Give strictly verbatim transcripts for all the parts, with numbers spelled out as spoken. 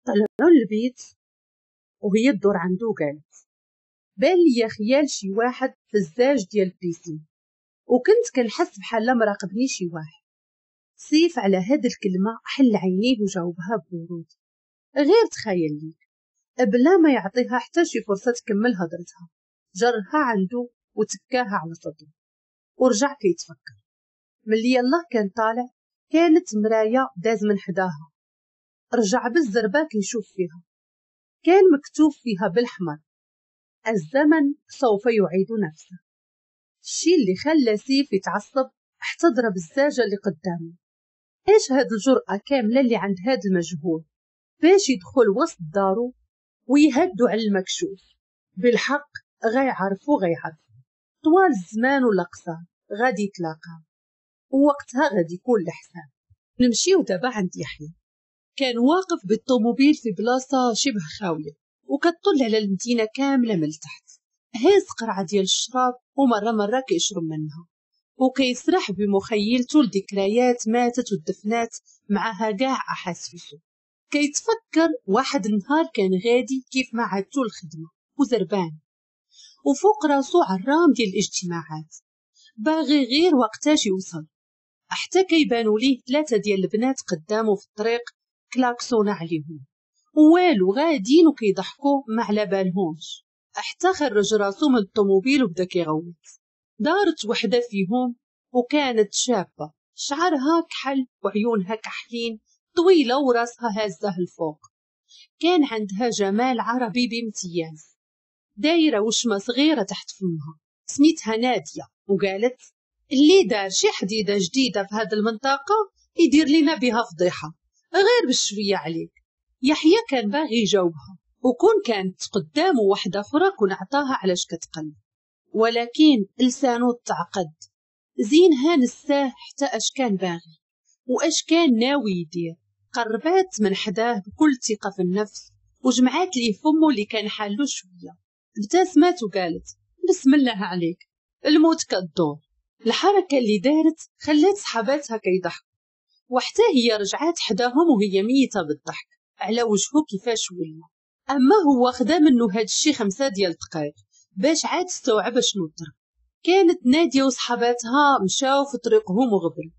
طلعوا للبيت وهي تدور عنده وقالت بان ليا خيال شي واحد في الزاج ديال ال piscine، وكنت كنحس بحال مراقبني شي واحد. سيف على هاد الكلمة حل عينيه وجاوبها ببرود، غير تخيل ليك، بلا ما يعطيها حتى شي فرصة تكمل هضرتها. جرها عنده وتكاها على صدره ورجع كيتفكر. ملي يلاه كان طالع كانت مراية داز من حداها، رجع بالزربه كيشوف فيها، كان مكتوب فيها بالحمر الزمن سوف يعيد نفسه. الشيء اللي خلى سيف يتعصب حتى ضرب الزاجه اللي قدامه. ايش هاد الجرأة كاملة اللي عند هاد المجهول باش يدخل وسط دارو ويهدو على المكشوف؟ بالحق غيعرفو غيعرفو طوال الزمان ولا قصار غادي يتلاقاو، ووقتها غادي يكون الحساب. نمشيو دابا عند يحيى. كان واقف بالطوموبيل في بلاصة شبه خاوية وكتطل على المدينة كاملة من التحت، هاز قرعه ديال الشراب ومرة مرة كيشرب منها وكيسرح بمخيلته لذكريات ماتت ودفنات معها كاع احاسيسه. كيتفكر واحد النهار كان غادي كيف ما عادتو الخدمة وزربان، وفوق راسو عرام ديال الاجتماعات، باغي غير وقتاش يوصل، حتى كيبانوا ليه ثلاثة ديال البنات قدامه في الطريق كلاكسونا عليهم والو، غاديين وكيضحكوا ما على بالهمش. حتى خرج راسو من الطوموبيل وبدا كيغوت. دارت وحده فيهم وكانت شابه، شعرها كحل وعيونها كحلين، طويلة وراسها هازه الفوق، كان عندها جمال عربي بامتياز، دايرة وشمه صغيرة تحت فمها، سميتها ناديه. وقالت اللي دار شي حديده جديدة في هذه المنطقة يدير لنا بها فضيحة، غير بالشويه عليك. يحيى كان باغي يجاوبها، وكون كانت قدامه واحدة اخرى كون عطاها علاش كتقلب، ولكن لسانه تعقد. زينها نساه حتى اش كان باغي واش كان ناوي يدير. قربات من حداه بكل ثقة في النفس وجمعات ليه فمه اللي كان حالو شوية، ابتسمت وقالت بسم الله عليك الموت كدور. الحركة اللي دارت خلات صحاباتها كيضحكوا، وحتى هي رجعات حداهم وهي ميته بالضحك على وجهه كيفاش ولا. اما هو خدا منه هاد الشي خمسة ديال الدقائق باش عاد استوعب شنو طرا. كانت ناديه وصحاباتها مشاو في طريقهم وغبروا.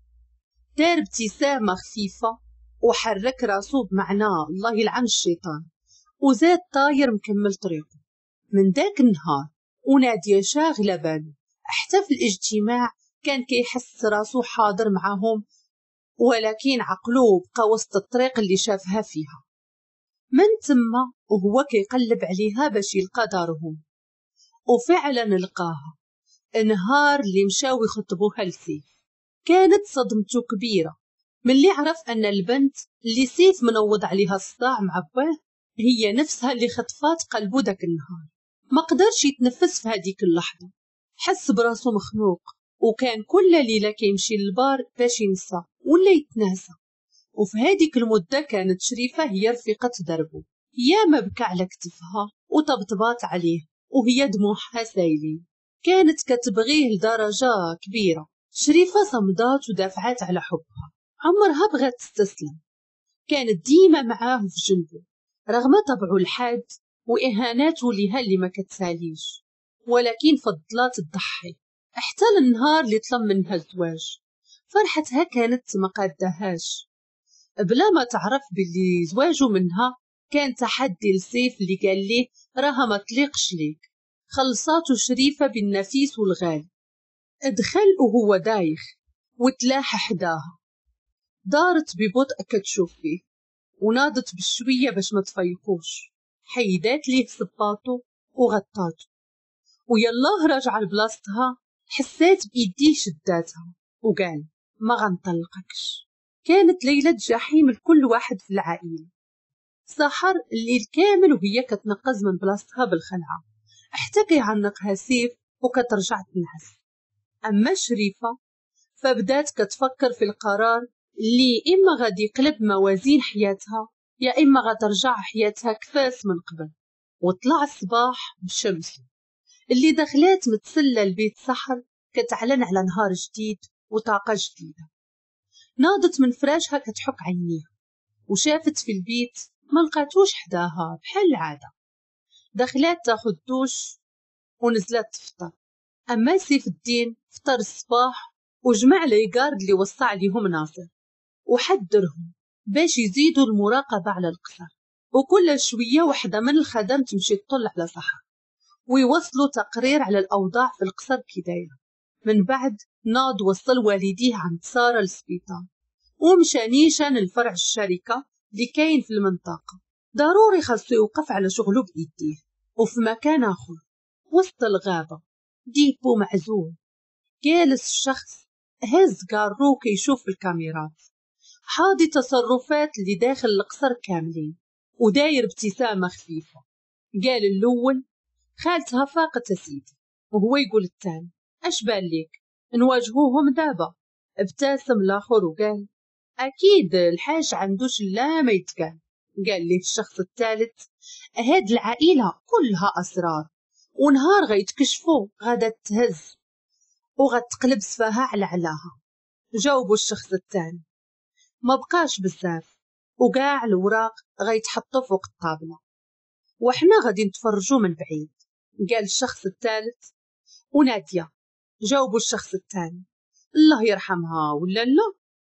دار ابتسامة خفيفة وحرك راسو بمعنى الله يلعن الشيطان، وزاد طاير مكمل طريقه. من ذاك النهار وناديه شاغله بالو، حتى في الاجتماع كان كيحس راسو حاضر معاهم، ولكن عقلو بقى وسط الطريق اللي شافها فيها. من تما وهو كيقلب عليها باش يلقى دارهم، وفعلا لقاها النهار اللي مشاو يخطبوها لسيف. كانت صدمته كبيرة ملي عرف ان البنت اللي سيف منوض عليها الصداع مع باه هي نفسها اللي خطفات قلبو داك النهار. ما قدرش يتنفس في هذيك اللحظة، حس براسو مخنوق، وكان كل ليلة كيمشي للبار باش ينسى ولا يتناسى. وفي هذيك المدة كانت شريفه هي رفيقه دربه، ياما بكى على كتفها وطبطبات عليه وهي دموعها سايلين. كانت كتبغيه لدرجة كبيرة. شريفه صمدات ودافعات على حبها، عمرها بغات تستسلم، كانت ديما معاه في جنبه رغم طبعه الحاد واهاناته ليها اللي ما كتساليش، ولكن فضلات تضحي حتى للنهار اللي طلب منها الزواج. فرحتها كانت ما قادهاش، بلا ما تعرف باللي زواجه منها كان تحدي لسيف اللي قال ليه راها ما تليقش ليك. خلصاتو شريفه بالنفيس والغالي. ادخل وهو دايخ وتلاح حداها، دارت ببطء كتشوف فيه وناضت بالشويه باش ما تفيقوش، حيدات ليه صباطو وغطاتو، ويلاه راجعه لبلاصتها حسات بايديه شداتها وقال ما غنطلقكش. كانت ليلة جحيم لكل واحد في العائلة. سحر الليل كامل وهي كتنقز من بلاصتها بالخلعه حتى كيعنقها سيف وكترجع تنعس. اما شريفه فبدات كتفكر في القرار اللي اما غادي يقلب موازين حياتها يا اما غترجع حياتها كفاس من قبل. وطلع الصباح بشمس اللي دخلات متسلة لبيت سحر كتعلن على نهار جديد وطاقة جديدة. ناضت من فراشها كتحك عينيها وشافت في البيت ما لقاتوش حداها بحال العادة. دخلات تاخد دوش ونزلت تفطر. اما سيف الدين فطر الصباح وجمع les gardes اللي وصى عليهم ناصر وحذرهم باش يزيدوا المراقبة على القصر، وكل شوية وحده من الخدم تمشي تطل على سحر ويوصلوا تقرير على الاوضاع في القصر كي دايرة. من بعد ناض وصل والديه عند ساره للسبيطار ومشى نيشان لفرع الشركة اللي كاين في المنطقة. ضروري خاصو يوقف على شغله بايديه. وفي مكان اخر وسط الغابة dépôt معزول جالس الشخص هز كارو كيشوف الكاميرات، حاضي تصرفات اللي داخل القصر كاملين وداير ابتسامة خفيفة. قال الاول خالتها فاقت سيدي، وهو يقول الثاني اش بان ليك نواجهوهم دابا؟ ابتسم الاخر وقال اكيد الحاج عندوش لا ما يتقال. قال ليه الشخص الثالث هاد العائلة كلها اسرار ونهار غيتكشفوا غادا تهز وغتقلب سفاها على علاها. جاوبوا الشخص الثاني ما بقاش بزاف وكاع الوراق غيتحطوا فوق الطابله وحنا غادي نتفرجوا من بعيد. قال الشخص الثالث وناديه؟ جاوبوا الشخص الثاني الله يرحمها ولا لا،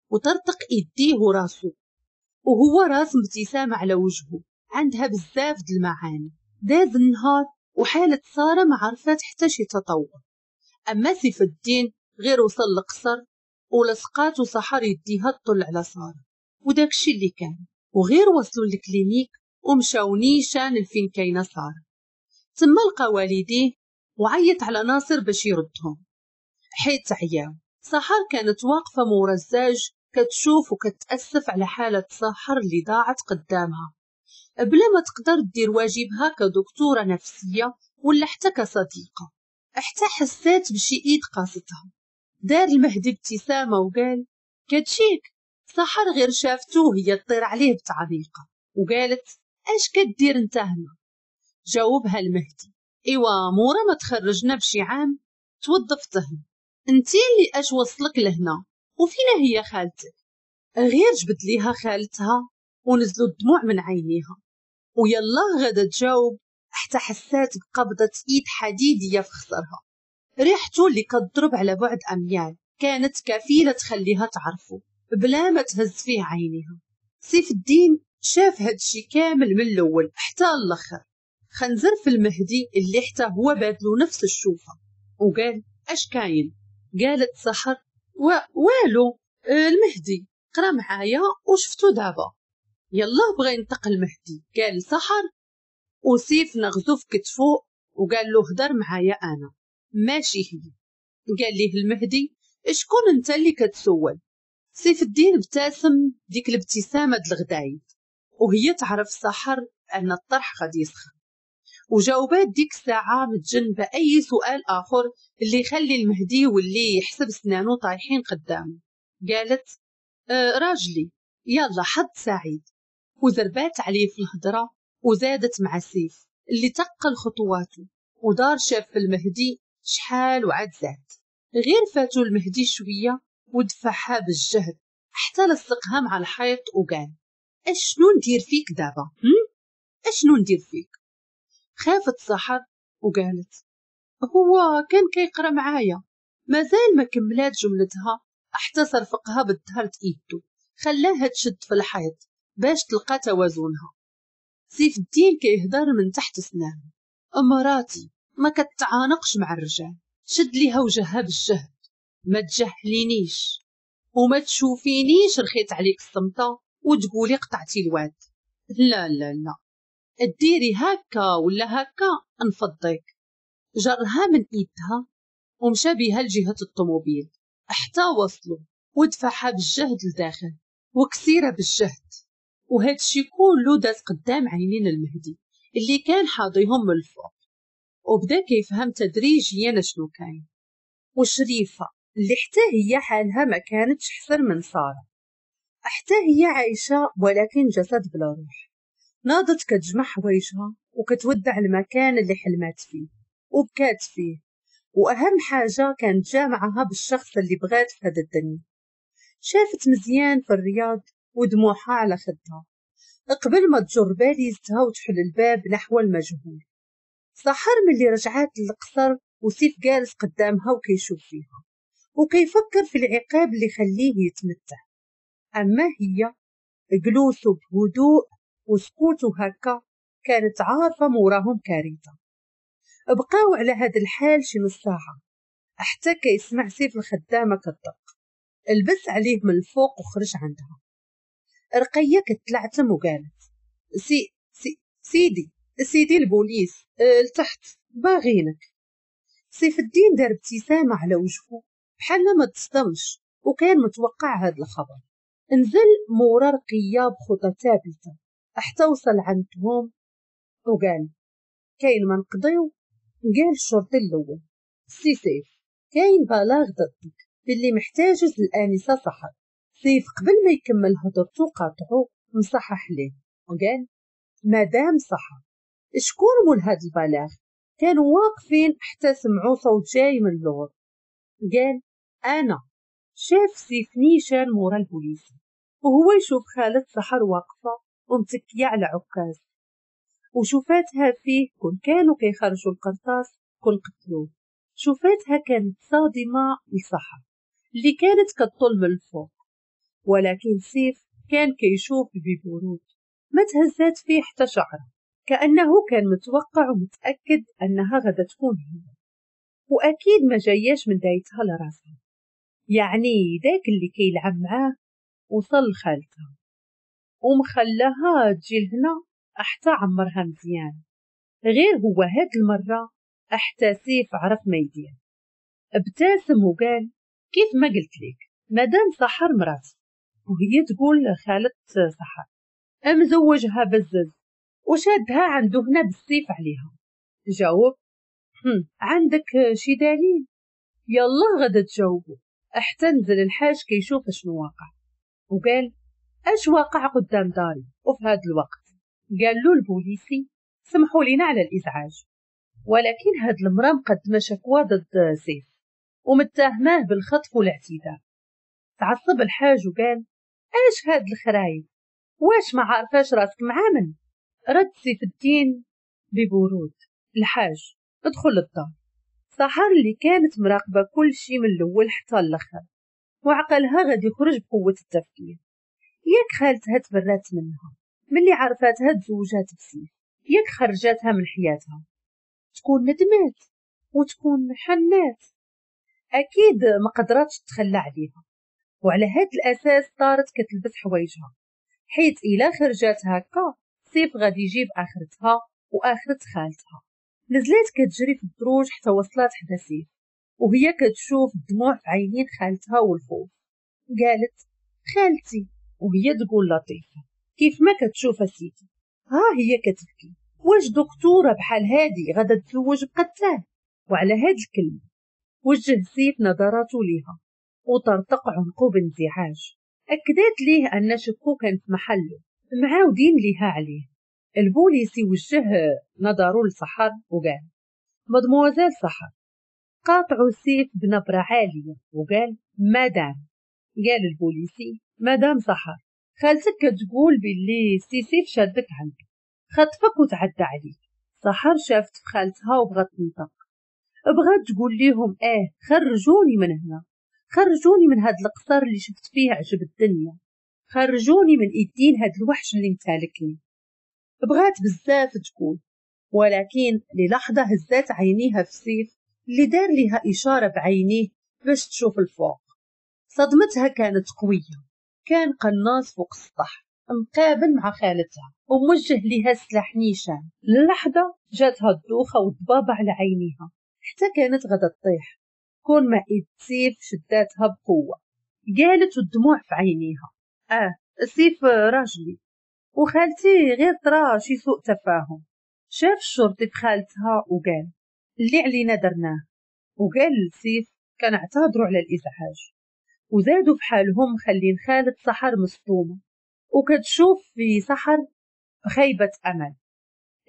وطرطق ايديه وراسو وهو راسم ابتسامة على وجهه عندها بزاف د المعاني. داز النهار وحاله ساره ما عرفات حتى شي تطور. اما سيف الدين غير وصل للقصر ولصقات وسحر يديها تطل على ساره وداكشي اللي كان. وغير وصلوا لل clinique ومشاو نيشان لفين كاينه ساره. تما لقى والديه وعيط على ناصر باش يردهم حيت عياو. سحر كانت واقفة مورا الزاج كتشوف وكتأسف على حاله سحر اللي ضاعت قدامها بلا ما تقدر دير واجبها كدكتوره نفسية ولا حتى كصديقه. حتى حسات بشي ايد قاستها. دار المهدي ابتسامة وقال كتشيك. سحر غير شافتو هي تطير عليه بتعليقه وقالت اش كدير انت هنا؟ جاوبها المهدي ايوا مورا ما تخرجنا بشي عام توظفت هنا، انتي اللي اش وصلك لهنا وفينا هي خالتك؟ غير جبد ليها خالتها ونزلوا الدموع من عينيها ويلا غدا تجاوب حتى حسات بقبضة ايد حديدية في خصرها. ريحته اللي كتضرب على بعد اميال كانت كفيلة تخليها تعرفه بلا ما تهز فيه عينيها. سيف الدين شاف هادشي كامل من الاول حتى الاخر، خنزر في المهدي اللي حتى هو بادلو نفس الشوفة وقال اش كاين؟ قالت سحر و... والو المهدي قرا معايا وشفتو دابا. يلا بغى ينطق المهدي قال سحر، وسيف نغزو في كتفو وقال له هدر معايا انا ماشي هي. قال ليه المهدي شكون انت اللي كتسول؟ سيف الدين ابتسم ديك الابتسامة د الغدايد وهي تعرف سحر ان الطرح غادي يسخن، وجاوبات ديك الساعة متجنبه اي سؤال اخر اللي يخلي المهدي واللي يحسب سنانو طايحين قدامه. قالت اه راجلي يلا حظ سعيد، وزربات عليه في الهضرة وزادت مع سيف اللي تقل خطواته ودار شاف في المهدي شحال وعاد زاد. غير فاتو المهدي شوية ودفعها بالجهد حتى لصقها مع الحيط وقال اشنو ندير فيك دابا؟ اشنو ندير فيك؟ خافت سحر وقالت هو كان كيقرا معايا. مازال ما كملات جملتها حتى صرفقها بالظهر ايدو خلاها تشد في الحيط باش تلقى توازنها. سيف الدين كيهدر من تحت سنانه مراتي ما كتعانقش مع الرجال. شد ليها وجهها بالجهد ما تجهلينيش وما تشوفينيش رخيت عليك الصمته وتقولي قطعتي الواد. لا لا لا ديري هكا ولا هكا نفضيك. جرها من ايدها ومشى بها لجهة الطوموبيل حتى وصلوا ودفعها بالجهد لداخل وكسيره بالجهد. وهذا الشيء كله داز قدام عينين المهدي اللي كان حاضيهم من الفوق وبدا كيفهم تدريجيا شنو كاين. وشريفه اللي حتى هي حالها ما كانتش حسن من ساره، حتى هي عايشه ولكن جسد بلا روح. ناضت كتجمع حوايجها وكتودع المكان اللي حلمات فيه وبكات فيه، واهم حاجة كانت جامعها بالشخص اللي بغات في هذا الدنيا. شافت مزيان في الرياض ودموعها على خدها، قبل ما تجر باليزتها وتحل الباب نحو المجهول. سحر ملي رجعات للقصر وسيف جالس قدامها وكيشوف فيها وكيفكر في العقاب اللي خليه يتمتع. أما هي جلوسه بهدوء وسكوته هكا كانت عارفة موراهم كارثة. بقاو على هذا الحال شي نص ساعة حتى كيسمع سيف الخدامة كتدق. لبس عليه من الفوق وخرج عندها. رقية كتلعتم وقالت سي سي سيدي سيدي البوليس لتحت باغينك. سيف الدين دار ابتسامة على وجهه بحال ما تصدمش وكان متوقع هذا الخبر. نزل مورا رقية بخطى ثابتة حتى وصل عندهم وقال كاين ما نقضيو. قال الشرطي الأول سي سيف كاين بلاغ ضدك باللي محتاجز الآنسة سحر. سيف قبل ما يكمل هضرته قاطعو مصحح ليه وقال مدام سحر. شكون مول هاد البلاغ؟ كانوا واقفين حتى سمعوا صوت جاي من اللور. قال انا. شاف سيف نيشان مورا البوليس وهو يشوف خالة سحر واقفة ومتكية على عكاز وشوفاتها فيه كون كانوا كيخرجوا القرطاس كون قتلوه. شوفاتها كانت صادمة لسحر اللي كانت كتطل من الفوق، ولكن سيف كان كيشوف ببرود ما تهزات فيه حتى شعره، كأنه كان متوقع ومتأكد أنها غدا تكون هي، وأكيد ما جاياش من دايتها لراسها. يعني داك اللي كيلعب معاه وصل لخالتها ومخلاها تجي لهنا حتى عمرها مزيان. غير هو هاد المرة حتى سيف عرف ما يدير. ابتسم وقال كيف ما قلت لك مدام سحر مراتي، وهي تقول خالة سحر مزوجها بزز وشادها عنده هنا بالسيف عليها. جاوب عندك شي دليل؟ يلا غدا تجاوبو. حتى نزل الحاج كيشوف شنو واقع وقال اش واقع قدام داري وفي هذا الوقت؟ قال له البوليسي سمحوا لينا على الازعاج، ولكن هاد المرأة مقدمة شكوى ضد سيف ومتهماه بالخطف والاعتداء. تعصب الحاج وقال اش هاد الخرايف، واش ما عارفاش راسك معامن؟ رد سيف الدين ببرود الحاج ادخل للدار. سحر اللي كانت مراقبة كل شي من الأول حتى الآخر وعقلها غادي يخرج بقوة التفكير. ياك خالتها تبرات منها ملي عرفاتها تزوجات بسيف، ياك خرجاتها من حياتها، تكون ندمات وتكون حنات، أكيد ما قدراتش تتخلى عليها. وعلى هاد الأساس طارت كتلبس حوايجها، حيت إلا خرجات هكا سيف غادي يجيب آخرتها وآخرة خالتها. نزلت كتجري في الدروج حتى وصلت حدا سيف وهي كتشوف الدموع في عينين خالتها والخوف. قالت خالتي، وهي تقول لطيفة كيف ما كتشوف سيدي ها هي كتبكي، واش دكتورة بحال هادي غادا تزوج بقتال؟ وعلى هاد الكلمة وجه سيف نظراته ليها وطرطق عنقه بانزعاج. أكدت ليه أن شكو كان في محله معاودين ليها عليه. البوليسي وجه نظره لسحر وقال مدموزيل سحر. قاطعوا سيف بنبرة عالية وقال مدام. قال البوليسي مدام سحر خالتك كتقول باللي سي سيف شادك عنده خطفك وتعدى عليك. سحر شافت في خالتها وبغات تنطق، بغات تقول ليهم اه خرجوني من هنا، خرجوني من هاد القصر اللي شفت فيه عجب الدنيا، خرجوني من ايدين هاد الوحش اللي متالكني. بغات بزاف تقول، ولكن للحظة هزات عينيها في سيف اللي دار لها إشارة بعينيه باش تشوف الفوق. صدمتها كانت قوية، كان قناص فوق السطح مقابل مع خالتها وموجه لها سلاح نيشان. للحظة جاتها الدوخة والضبابة على عينيها حتى كانت غدا تطيح، كون ما إيد سيف شداتها بقوة. قالت والدموع في عينيها اه سيف راجلي وخالتي غير طرا شي سوء تفاهم. شاف الشرطي في خالتها وقال اللي علينا درناه، وقال لسيف كنعتذروا على الازعاج. وزادوا في حالهم خلين خالة سحر مصدومة وكتشوف في سحر خيبة أمل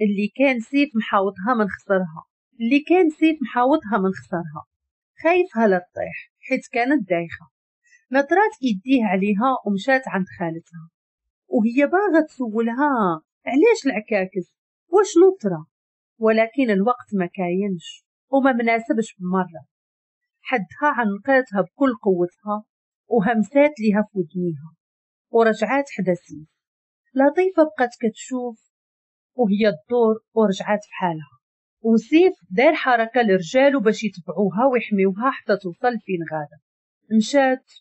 اللي كان سيف محاوطها من خسرها، اللي كان سيف محاوطها من خسرها، خايفها لا تطيح حيت كانت دايخة. نطرات ايديه عليها ومشات عند خالتها وهي باغا تسولها علاش العكاكز وشنو طرا، ولكن الوقت ما كاينش وما مناسبش بمرة. حدها عنقاتها بكل قوتها وهمسات ليها في ودنيها ورجعات حدا سيف. لطيفة بقات كتشوف وهي تدور ورجعات في حالها، وسيف دار حركة لرجالو باش يتبعوها ويحميوها حتى توصل فين غادا. مشات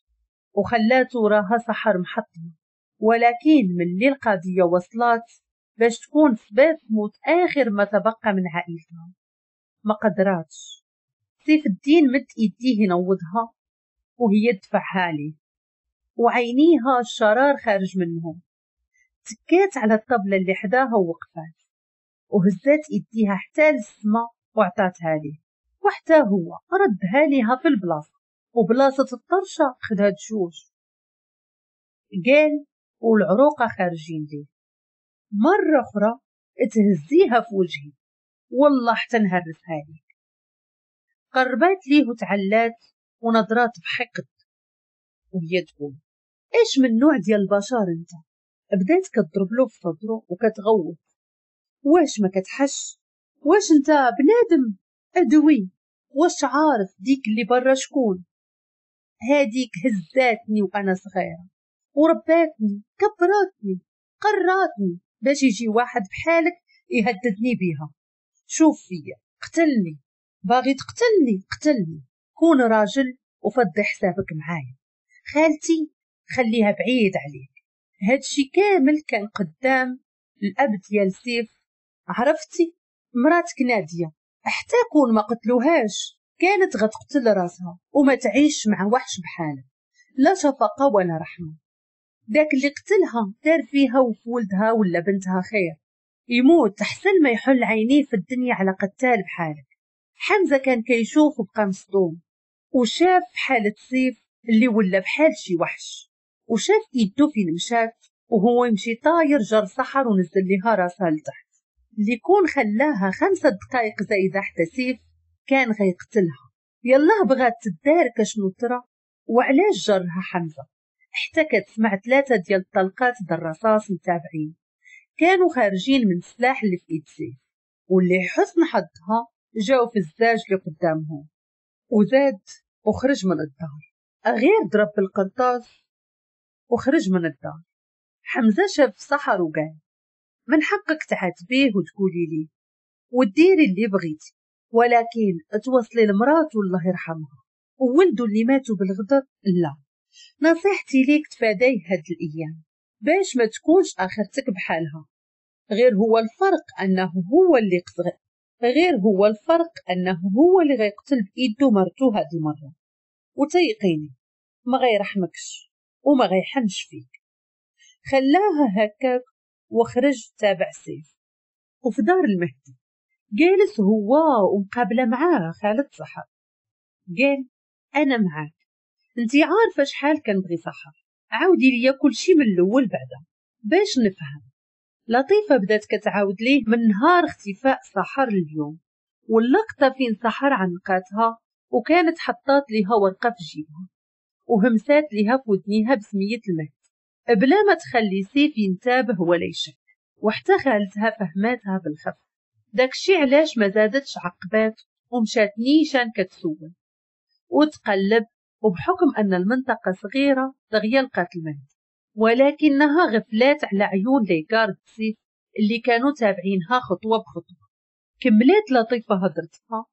وخلات وراها سحر محطمة، ولكن ملي القضية وصلات باش تكون سبب موت آخر ما تبقى من عائلتها ما قدراتش. سيف الدين مد ايديه ينوضها وهي تدفعها عليه وعينيها الشرار خارج منهم. تكات على الطبلة اللي حداها ووقفات وهزات ايديها حتى للسما وعطاتها ليه، وحتى هو ردها ليها في البلاصة، وبلاصة الطرشة خدها جوج. قال والعروقة خارجين ليه، مرة أخرى تهزيها في وجهي والله حتى نهرسها ليك. قربات ليه وتعلات ونظرات بحقد وهي تقول ايش من نوع ديال البشر انت؟ بدات كتضرب له في صدره وكتغوت، واش ما كتحش؟ واش انت بنادم؟ ادوي، واش عارف ديك اللي برا شكون؟ هاديك هزاتني وانا صغيرة ورباتني كبراتني قراتني باش يجي واحد بحالك يهددني بيها. شوف فيا، قتلني، باغي تقتلني قتلني، كون راجل وفضي حسابك معايا. خالتي خليها بعيد عليك. هادشي كامل كان قدام الاب ديال سيف. عرفتي مراتك ناديه حتى كون ما قتلوهاش كانت غتقتل راسها وما تعيش مع وحش بحالك، لا شفقة ولا رحمه. داك اللي قتلها دار فيها وفي ولدها ولا بنتها خير، يموت احسن ما يحل عينيه في الدنيا على قتال بحالك. حمزة كان كيشوف وبقى مصدوم، وشاف حاله سيف اللي ولا بحال شي وحش، وشاف ايدو فين مشات وهو يمشي طاير جر سحر ونزل ليها راسها لتحت. اللي كون خلاها خمسة دقائق زايدة حتى سيف كان غيقتلها. يلاه بغات تدارك شنو طرا وعلاش جرها حمزة، حتى كتسمع ثلاثة ديال الطلقات د الرصاص متابعين كانوا خارجين من السلاح اللي في ايد سيف، واللي حسن حظها جاو في الزاج اللي قدامهم. وزاد وخرج من الدار، غير ضرب بالقرطاس وخرج من الدار. حمزة شاف سحر وقال من حقك تعاتبيه وتقولي لي وديري اللي بغيتي، ولكن توصلي لمراته الله يرحمها وولده اللي ماتوا بالغدر لا. نصيحتي ليك تفاديه هاد الايام باش ما تكونش اخرتك بحالها. غير هو الفرق انه هو اللي قتل، غير هو الفرق انه هو اللي غيقتل بايدو مرتو هاد المرة، وتيقيني ما غيرحمكش وما غيحنش فيك. خلاها هكاك وخرج تابع سيف. وفي دار المهدي جالس هو ومقابله معاه خالد سحر. قال انا معاك، انتي عارفه شحال كنبغي سحر، عاودي ليا كلشي من الاول بعدا باش نفهم. لطيفة بدات كتعاود ليه من نهار اختفاء سحر اليوم، واللقطه فين سحر عنقاتها وكانت حطات ليها ورقة في جيبها وهمسات ليها في ودنيها بسميه المهدي بلا ما تخلي سيف ينتابه ولا يشك. وحتى خالتها فهماتها بالخف، داكشي علاش ما زادتش عقبات ومشات نيشان كتسول وتقلب. وبحكم ان المنطقة صغيرة دغيا لقات المهدي، ولكنها غفلات على عيون les gardes سيف اللي كانوا تابعينها خطوة بخطوة. كملات لطيفة هضرتها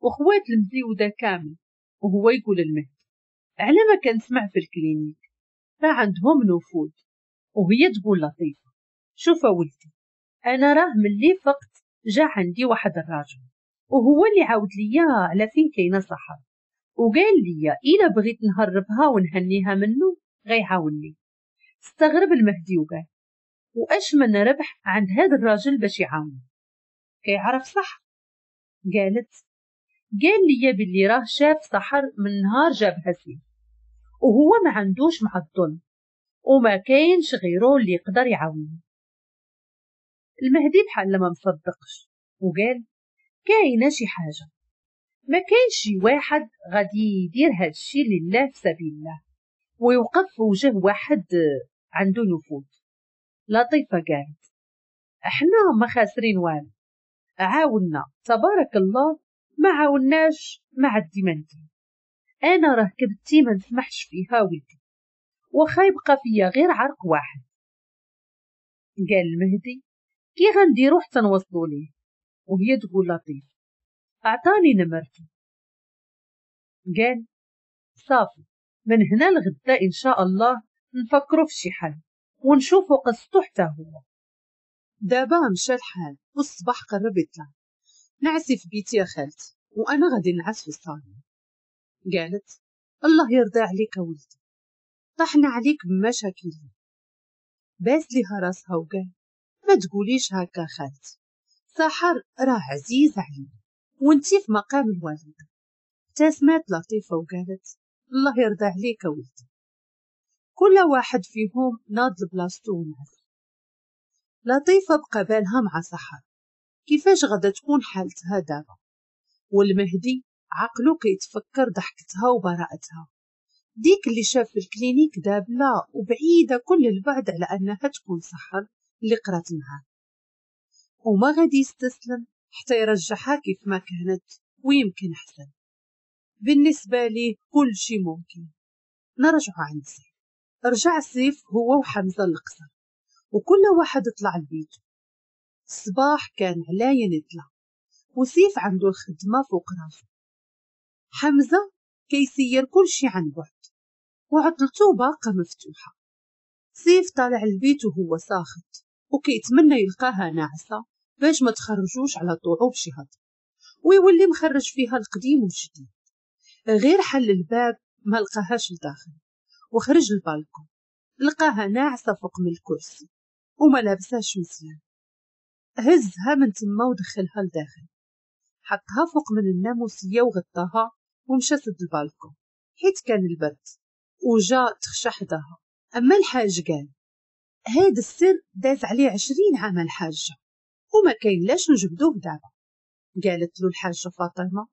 وخوات المزيوده كامل، وهو يقول المهدي على ما كنسمع في ال clinique راه عندهم نفوذ. وهي تقول لطيفة شوف ولدي، انا راه ملي فقت جا عندي واحد الراجل وهو اللي عاود ليا على فين كاينه سحر، وقال لي الا بغيت نهربها ونهنيها منه غيعاونني. استغرب المهدي وقال واش من ربح عند هذا الراجل باش يعاوني؟ كيعرف صح؟ قالت قال لي باللي راه شاف سحر من نهار جابها سيف وهو ما عندوش مع الظلم وما كاينش غيره اللي يقدر يعاوني. المهدي بحال ما مصدقش وقال كاينه شي حاجة، ما كاينش شي واحد غادي يدير هادشي لله في سبيل الله ويوقف في وجه واحد عنده نفوذ. لطيفة قالت احنا ما خاسرين والو، عاونا تبارك الله، ما عاوناش ما عدي ما ندير. انا راه كبتي ما نسمحش فيها ولدي، واخا يبقى فيا غير عرق واحد. قال المهدي كي غنديرو حتى نوصلو ليه؟ وهي تقول لطيف اعطاني نمرته. قال صافي من هنا لغدا ان شاء الله نفكرو في شي حل ونشوفو قصتو حتى هو. دابا مشى الحال والصباح قرب يطلع. نعسي في بيتي يا خالتي وانا غادي نعس في الصالون. قالت الله يرضى عليك ولدي، طحنا عليك بمشاكل. باس ليها راسها وقال ما تقوليش هكا خالتي، سحر راه عزيز علينا وانتي في مقام الوالدة. ابتسمت لطيفة وقالت الله يرضى عليك ولدي. كل واحد فيهم ناض لبلاصتو ونعس. لطيفة بقى بالها مع سحر كيفاش غادا تكون حالتها دابا، والمهدي عقلو كيتفكر ضحكتها وبراءتها ديك اللي شاف في ال clinique دابله وبعيدة كل البعد على انها تكون سحر اللي قرات معاه، وما غادي يستسلم حتى يرجعها كيف ما كانت ويمكن احسن. بالنسبة ليه كل شيء ممكن. نرجع عند سيف. رجع سيف هو وحمزة للقصر وكل واحد طلع لبيته. الصباح كان علاين يطلع وسيف عنده الخدمة فوق راسه. حمزة كيسير كل شي عن بعد وعطلته باقه مفتوحة. سيف طالع البيت وهو ساخط وكيتمنى يلقاها ناعسه باش ما تخرجوش على طوعو بشي هضره ويولي مخرج فيها القديم والجديد. غير حل الباب ما لقاهاش لداخل وخرج البالكون لقاها ناعسه فوق من الكرسي وما لابساش مزيان. هزها من تما ودخلها لداخل، حطها فوق من الناموسيه وغطاها ومشى سد البالكون حيت كان البرد وجا تخشى حداها. اما الحاج قال هاد السر داز عليه عشرين عام الحاجة وما كاين لاش نجبدوه دابا. قالت له الحاجة فاطمة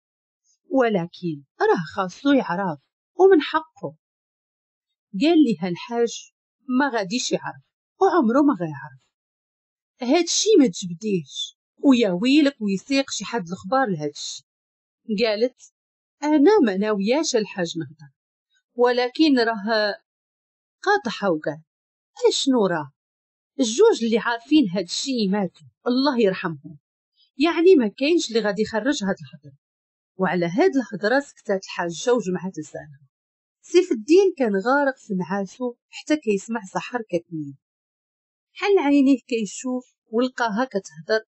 ولكن راه خاصو يعرف ومن حقه. قال لها الحاج ما غاديش يعرف وعمره ما غيعرف، هادشي ما تجبديهش ويا ويلك ويسيق شي حد الخبار لهادشي. قالت انا ما ناوياش الحاج نهضر ولكن راه قاطعها وقال اشنو راه الجوج اللي عارفين هادشي ماتوا الله يرحمهم، يعني ما كاينش اللي غادي يخرج هاد الهضرة. وعلى هاد الهضرة سكتات الحاجة وجمعت لسانها. سيف الدين كان غارق في نعاسو حتى كيسمع سحر كتنين. حل عينيه كيشوف ولقاها كتهضر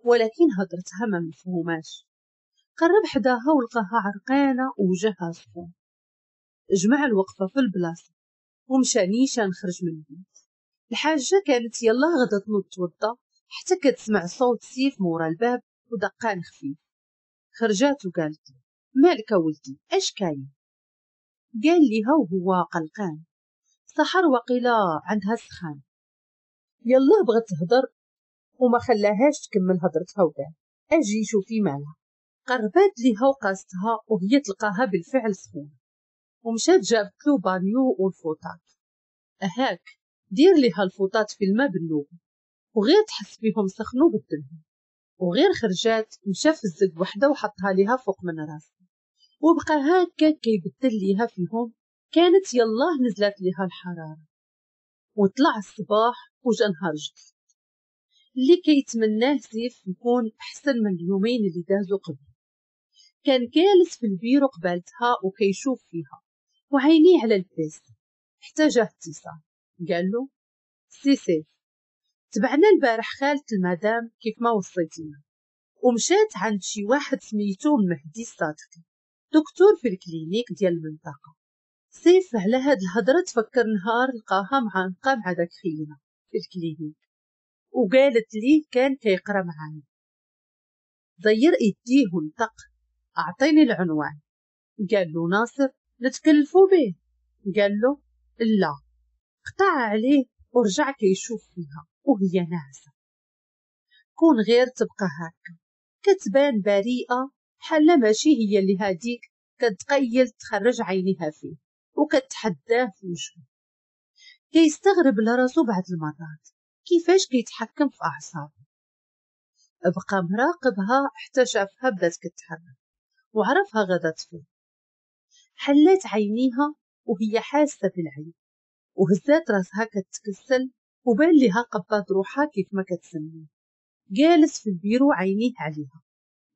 ولكن هضرتها ما مفهوماش. قرب حداها ولقاها عرقانه ووجهها سخون. جمع الوقفة في البلاصة ومشى نيشان خرج من البيت. الحاجة كانت يلا غدا تنوض توضى حتى كتسمع صوت سيف مورا الباب ودقان خفيف. خرجات وقالت له مالك ولدي اش كاين؟ قال ليها وهو قلقان سحر وقيله عندها سخان. يلا بغات تهضر وما خلاهاش تكمل هضرتها وقال اجي شوفي مالها. قربات ليها وقاستها وهي تلقاها بالفعل سخونة ومشات جابت له بانيو والفوطات. هاك دير ليها الفوطات في الماء بالنوبه وغير تحس بيهم سخنوا بدلهم. وغير خرجات مشى في الزق وحده وحطها ليها فوق من راسها وبقى هكا كيبدل ليها فيهم. كانت يلاه نزلت ليها الحرارة. وطلع الصباح وجا نهار جديد اللي كيتمناه سيف يكون احسن من اليومين اللي دازو قبل. كان جالس في البيرو قبالتها وكيشوف فيها وعينيه على ال PC حتى جاه اتصال. قال له سي سيف تبعنا البارح خالة المدام كيف ما وصيتينا ومشات عند شي واحد سميتو المهدي الصادقي دكتور في ال clinique ديال المنطقة. سيف على هاد الهضرة تفكر نهار لقاها مع مع داك خينا في ال clinique وقالت ليه كان كيقرا معانا. زير ايديه ونطق اعطيني العنوان. قال له ناصر نتكلفوا به. قال له لا. قطع عليه ورجع كيشوف فيها وهي ناعسه. كون غير تبقى هكا كتبان بريئة بحال ماشي هي اللي هاديك كتقيل تخرج عينيها فيه وكتحداه في وجهه. كيستغرب لراسو بعض المرات كيفاش كيتحكم في اعصابه. بقى مراقبها حتى شافها بدات كتحرك وعرفها غدا تفيق. حلات عينيها وهي حاسه بالعين، وهزات راسها كتكسل وبان لها قبات روحها كيف ما كتسميه، جالس في البيرو عينيه عليها.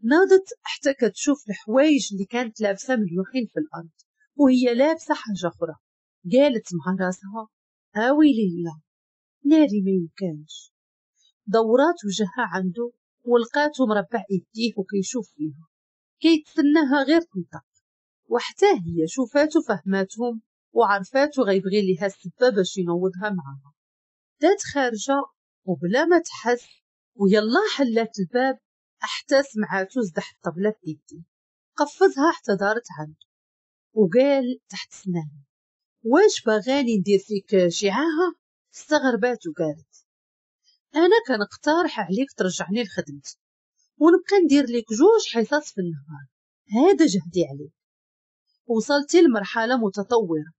ناضت حتى كتشوف الحوايج اللي كانت لابسه مليوحين في الارض وهي لابسه حاجة اخرى. قالت مع راسها اويلي لا ناري ما يمكنش. دورات وجهها عنده ولقاتو مربع يديه وكيشوف فيها، كيتسناها غير تنطق. وحتى هي شوفاتو فهماتهم وعرفاتو غيبغي ليها السبه باش ينوضها معاها. دات خارجه وبلا ما تحس، ويلا حلات الباب حتى سمعاتو زدح الطبلة بيديه، قفزها حتى دارت عنده وقال تحت سنانه واش باغاني ندير فيك شعاها؟ استغربات وقالت انا كنقترح عليك ترجعني لخدمتي ونبقى ندير لك جوج حصص في النهار، هذا جهدي عليك. وصلتي لمرحلة متطورة.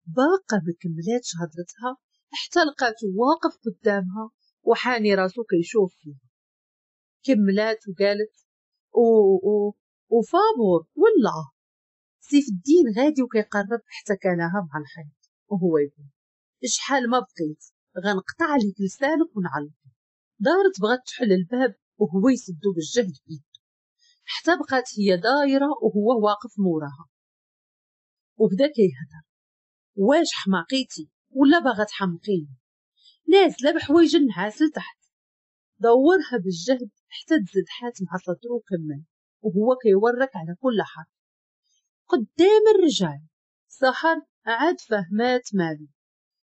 باقا ما كملاتش هضرتها حتى لقاتو واقف قدامها وحاني راسو كيشوف فيها. كملات وقالت او او وفابور ولا. سيف الدين غادي وكيقرب حتى كانها مع الحيط وهو يقول شحال ما بقيت غنقطع عليك لسانك ونعلق. دارت بغات تحل الباب وهو يسدو بالجهد بيده حتى بقات هي دايرة وهو واقف موراها وبدا كيهضر واش حماقيتي ولا باغا تحمقيني؟ نازله بحوايج النعاس لتحت. دورها بالجهد حتى تزدحات مع صدرو وكمل وهو كيورك على كل حرف قدام الرجال. سحر عاد فهمات مالو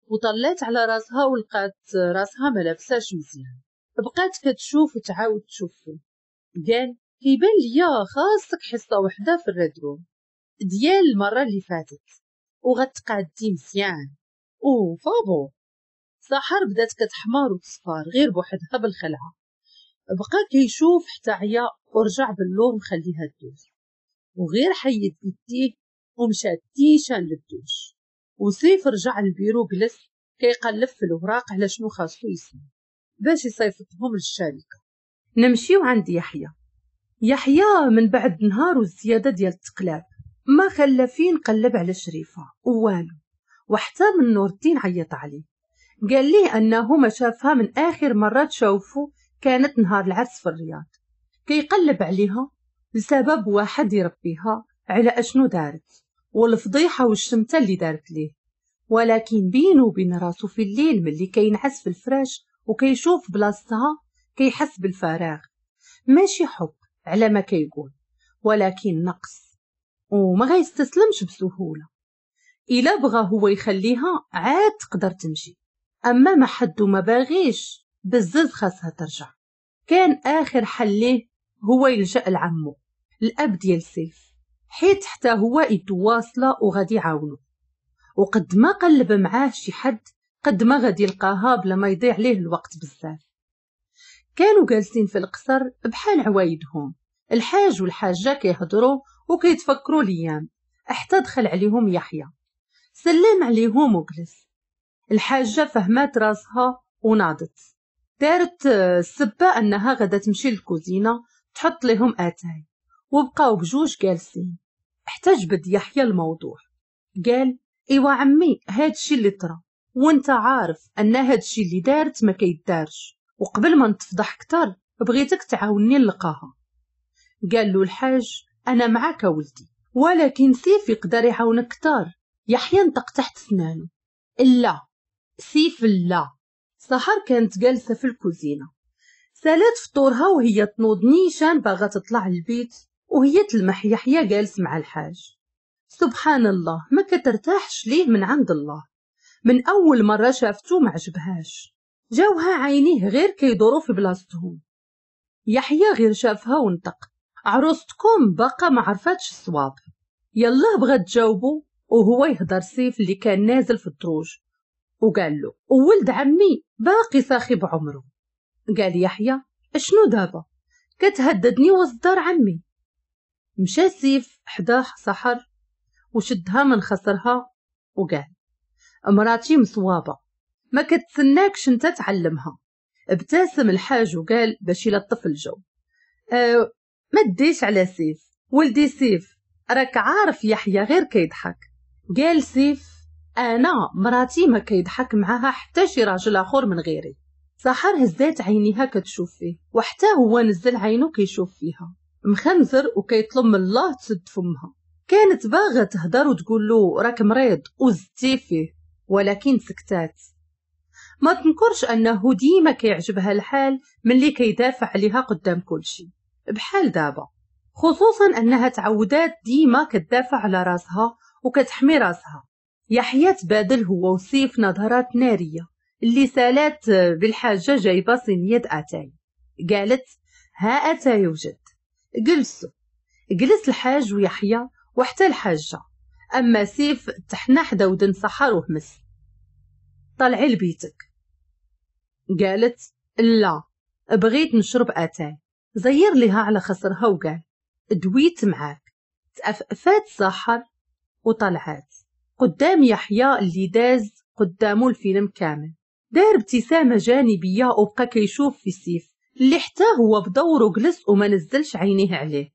وطلات على راسها ولقات راسها ما لابساش مزيان. بقات كتشوف وتعاود تشوف فيه. قال كيبان ليا خاصك حصة وحده في الريدروم ديال المرة اللي فاتت وغتقادي مزيان او فابو. سحر بدات كتحمر وتصفار غير بوحدها بالخلعه. بقى كيشوف حتى عيا ورجع باللور مخليها تدوز، وغير حيد يديه ومشى تيشان للدوش. وسيف رجع للبيرو جلس كيقلب في الاوراق على شنو خاصو يسمع باش يصيفطهم للشركة. نمشيو عند يحيى. يحيى من بعد نهار والزيادة ديال التقلاب ما خلى فين قلب على شريفه والو، وحتى من نور الدين عيط عليه قال ليه انه ما شافها من اخر مرة تشوفو كانت نهار العرس في الرياض. كيقلب عليها لسبب واحد يربيها على اشنو دارت والفضيحة والشمته اللي دارت ليه، ولكن بينه وبين راسو في الليل ملي كينعس في الفراش وكيشوف بلاصتها كيحس بالفراغ، ماشي حب على ما كيقول ولكن نقص، وما غيستسلمش بسهولة. الا بغى هو يخليها عاد تقدر تمشي، اما ما حد وما باغيش بزز خاصها ترجع. كان اخر حل ليه هو يلجأ لعمو الاب ديال سيف، حيت حتى هو يدو واصله وغادي يعاونو، وقد ما قلب معاه شي حد قد ما غادي يلقاها بلا ما يضيع ليه الوقت بزاف. كانوا جالسين في القصر بحال عوايدهم، الحاج والحاجة كيهضروا وكيتفكروا الايام، حتى دخل عليهم يحيى سلم عليهم وجلس. الحاجة فهمات راسها وناضت دارت السبه انها غدا تمشي للكوزينه تحط لهم اتاي، وبقاو بجوج جالسين حتى جبد يحيى الموضوع. قال ايوا عمي هادشي اللي طرا وانت عارف ان هادشي اللي دارت ما كيدارش، وقبل ما نتفضح كتر بغيتك تعاوني نلقاها. قال له الحاج انا معاك ولدي، ولكن سيف يقدر يعاونك كتر. يحيى نطق تحت سنانه لا سيف لا. سحر كانت جالسة في الكوزينة سالات فطورها وهي تنوض نيشان باغا تطلع البيت، وهي تلمح يحيى جالس مع الحاج. سبحان الله ما كترتاحش ليه من عند الله، من اول مرة شافتو ما عجبهاش، جاوها عينيه غير كيدوروا في بلاصتهم. يحيى غير شافها ونطق عروستكم باقا ما عرفاتش الصواب. يلا بغات تجاوبو وهو يهضر سيف اللي كان نازل في الدروج وقال له ولد عمي باقي ساخي بعمره. قال يحيى اشنو دابا كتهددني وسط دار عمي؟ مشى سيف حداه سحر وشدها من خصرها وقال مراتي مصوابه ما كتسناكش انت تعلمها. ابتسم الحاج وقال باش يلطف الجو، أه ما تديش على سيف ولدي سيف، راك عارف يحيى غير كيضحك. قال سيف انا مراتي ما كيضحك معاها حتى شي راجل اخر من غيري. سحر هزات عينيها كتشوف فيه، وحتى هو نزل عينه كيشوف فيها مخنزر وكيطلب من الله تسد فمها. كانت باغا تهدر وتقول له راك مريض وزدتي فيه، ولكن سكتات. ما تنكرش انه ديما كيعجبها الحال ملي كيدافع عليها قدام كلشي بحال دابا، خصوصا انها تعودات ديما كتدافع على راسها وكتحمي راسها. يحيى تبادل هو وسيف نظرات نارية اللي سالات بالحاجة جايبه صينية اتاي. قالت ها اتاي وجد. جلسوا، جلس الحاج ويحيى وحتى الحاجة. اما سيف تحنى حدا ودن سحر وهمس، طلعي لبيتك. قالت لا بغيت نشرب اتاي. زير لها على خصرها وقال دويت معاك. تأفأفات سحر وطلعات قدام يحيى اللي داز قدامه الفيلم كامل. دار ابتسامة جانبية وبقى كيشوف في سيف اللي حتى هو بدوره جلس وما نزلش عينيه عليه.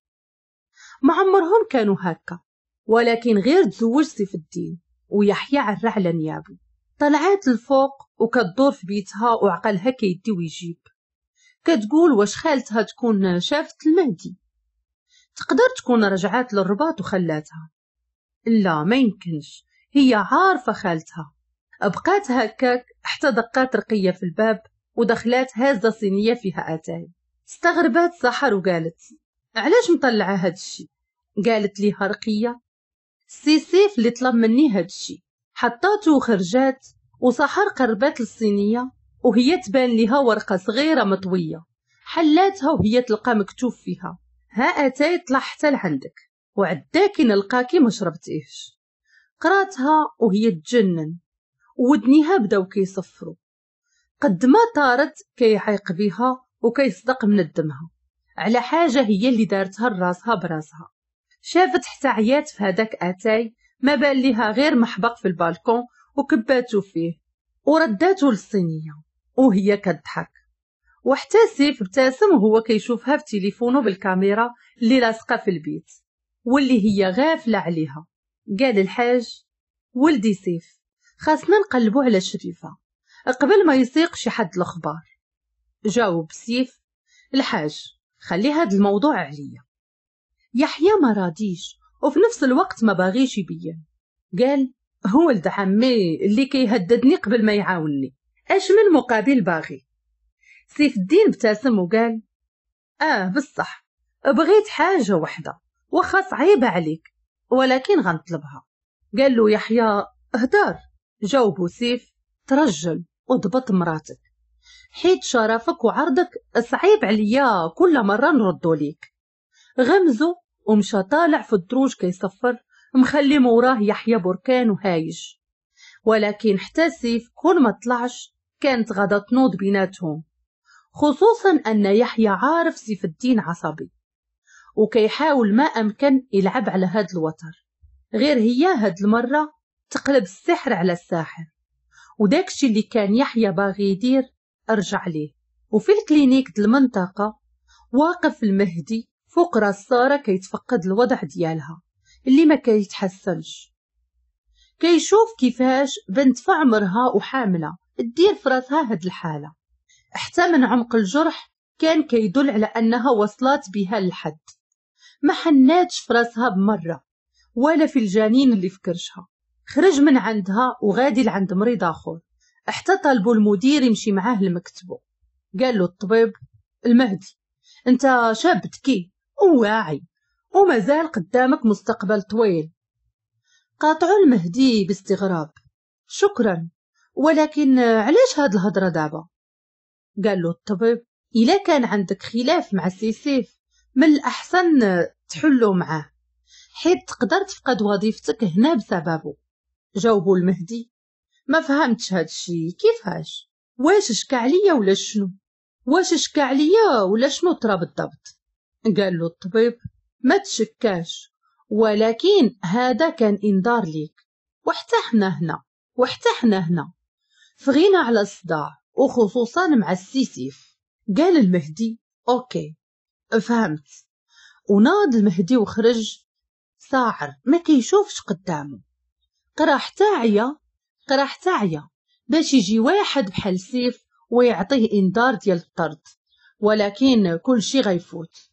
ما عمرهم كانوا هكا، ولكن غير تزوج سيف الدين ويحيى عرى على نيابو. طلعات الفوق وكتدور في بيتها وعقلها كيدي ويجيب. كتقول واش خالتها تكون شافت المهدي، تقدر تكون رجعات للرباط وخلاتها. لا ما يمكنش، هي عارفة خالتها. بقات هكاك حتى دقات رقية في الباب ودخلات هازة صينية فيها أتاي. استغربات سحر وقالت علاش مطلعة هاد الشي؟ قالت ليها رقية سي سيف اللي طلب مني هاد الشي. حطاتو وخرجات، وسحر قربات للصينية وهي تبان ليها ورقة صغيرة مطوية. حلاتها وهي تلقى مكتوب فيها ها أتاي طلع حتى لعندك وعداكي نلقاكي ما شربتيهش. قراتها وهي تجنن ودنيها بداو كيصفروا. قد ما طارت كيعيق بها وكيصدق من الدمها على حاجة هي اللي دارتها لراسها براسها. شافت حتى عيات في هذاك اتاي ما بان ليها غير محبق في البالكون وكباتو فيه ورداتو للصينيه وهي كتضحك. وحتى سيف ابتسم وهو كيشوفها في تليفونه بالكاميرا اللي لاصقه في البيت واللي هي غافله عليها. قال الحاج ولدي سيف خاصنا نقلبو على شريفه قبل ما يسيق شي حد الاخبار. جاوب سيف الحاج خلي هاد الموضوع عليا. يحيى ما راضيش وفي نفس الوقت ما باغيش يبين. قال هو ولد عمي اللي كيهددني قبل ما يعاونني، اش من مقابل باغي؟ سيف الدين ابتسم وقال اه بصح بغيت حاجة وحده واخا صعيبة عليك ولكن غنطلبها. قال له يحيى هدار. جاوبو سيف ترجل وضبط مراتك حيت شرفك وعرضك صعيب عليا كل مرة نردو ليك. غمزو ومشى طالع في الدروج كيصفر مخلي موراه يحيى بركان وهايج. ولكن حتى سيف كون ما طلعش كانت غادا تنوض بيناتهم، خصوصا ان يحيى عارف سيف الدين عصبي وكيحاول ما امكن يلعب على هاد الوتر. غير هي هاد المرة تقلب السحر على الساحر، وداكشي اللي كان يحيى باغي يدير ارجع ليه. وفي ال clinique د المنطقة واقف المهدي فوق راس ساره كيتفقد الوضع ديالها اللي ما كيتحسنش. كيشوف كيفاش بنت في عمرها وحامله دير في راسها هاد الحالة. حتى من عمق الجرح كان كيدل على انها وصلت بها للحد. ما حناتش في راسها بمرة ولا في الجنين اللي في كرشها. خرج من عندها وغادي لعند مريض اخر حتى طالبوا المدير يمشي معاه لمكتبه. قال له الطبيب المهدي انت شاب ذكي وواعي ومازال قدامك مستقبل طويل. قاطعوا المهدي باستغراب شكرا ولكن علاش هاد الهضرة دابا؟ قال له الطبيب الا كان عندك خلاف مع سي سيف من الاحسن تحلو معاه حيت تقدر تفقد وظيفتك هنا بسببه. جاوبوا المهدي ما فهمتش هاد الشي كيفاش، واش شكا عليا ولا شنو؟ واش شكا عليا ولا شنو طرا بالضبط؟ قال له الطبيب ما تشكاش ولكن هذا كان انذار ليك، وحتى حنا هنا وحتى حنا هنا في غنى على الصداع، وخصوصا مع السي سيف. قال المهدي OK فهمت. وناض المهدي وخرج ساعر ما كيشوفش قدامه. قرا حتى عيا، قرا حتى عيا باش يجي واحد بحال سيف ويعطيه انذار ديال الطرد، ولكن كل شي غيفوت.